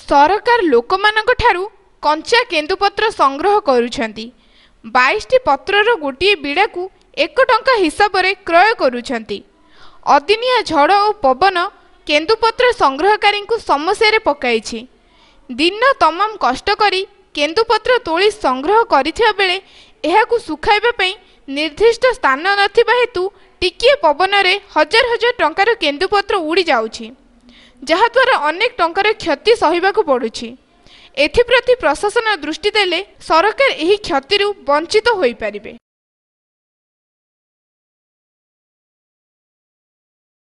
ସରକାର ଲୋକମାନଙ୍କ ଠାରୁ କଞ୍ଚା କେନ୍ଦୁପତ୍ର ସଂଗ୍ରହ କରୁଛନ୍ତି। 22ଟି ପତ୍ରର ଗୋଟିଏ ବିଡ଼ାକୁ 1 ଟଙ୍କା ହିସାବରେ କ୍ରୟ କରୁଛନ୍ତି। ଅଦିନିଆ ଝଡ଼ ଓ ପବନ କେନ୍ଦୁପତ୍ର ସଂଗ୍ରହକାରୀଙ୍କୁ ସମସ୍ୟାରେ ପକାଇଛି। ଦିନ ତମାମ କଷ୍ଟ କରି କେନ୍ଦୁପତ୍ର ତୋଳି ସଂଗ୍ରହ କରିଥିବା ବେଳେ ଏହାକୁ ଶୁଖାଇବା ପାଇଁ ନିର୍ଦ୍ଦିଷ୍ଟ ସ୍ଥାନ ନଥିବା ହେତୁ ଟିକିଏ ପବନରେ ହଜାର ହଜାର ଟଙ୍କାର କେନ୍ଦୁପତ୍ର ଉଡ଼ି ଯାଉଛି, ଯାହାଦ୍ୱାରା ଅନେକ ଟଙ୍କାର କ୍ଷତି ସହିବାକୁ ପଡ଼ୁଛି। ଏଥିପ୍ରତି ପ୍ରଶାସନ ଦୃଷ୍ଟି ଦେଲେ ସରକାର ଏହି କ୍ଷତିରୁ ବଞ୍ଚିତ ହୋଇପାରିବେ।